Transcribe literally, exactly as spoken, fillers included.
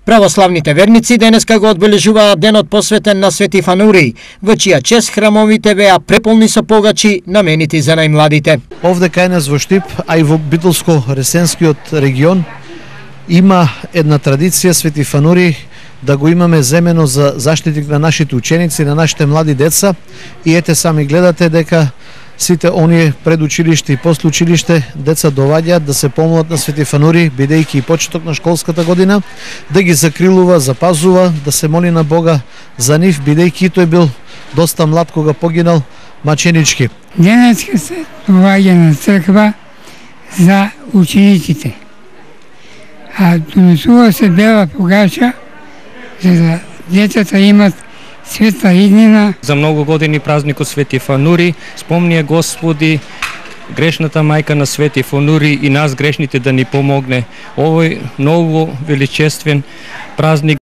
Православните верници денеска го одбележуваат денот посветен на Свети Фанурий, во чија чест храмовите беа преполни со погачи наменити за најмладите. Овде кај нас во Штип, а и во Битолско-Ресенскиот регион има една традиција Свети Фанурий да го имаме земено за заштитник на нашите ученици, на нашите млади деца, и ете сами гледате дека сите оние пред училиште и после училиште деца доваѓаат да се помолат на Свети Фанурий, бидејќи и почеток на школската година, да ги закрилува, запазува, да се моли на Бога за нив, бидејќи тој бил доста млад кога погинал маченички. Денеска се доваѓа на црква за учениците, а донесува се бела погача за да децата имат светла иднина. За многу години празникот Свети Фанурий спомнија Господи грешната мајка на Свети Фанурий и нас грешните да ни помогне. Овој многу величествен празник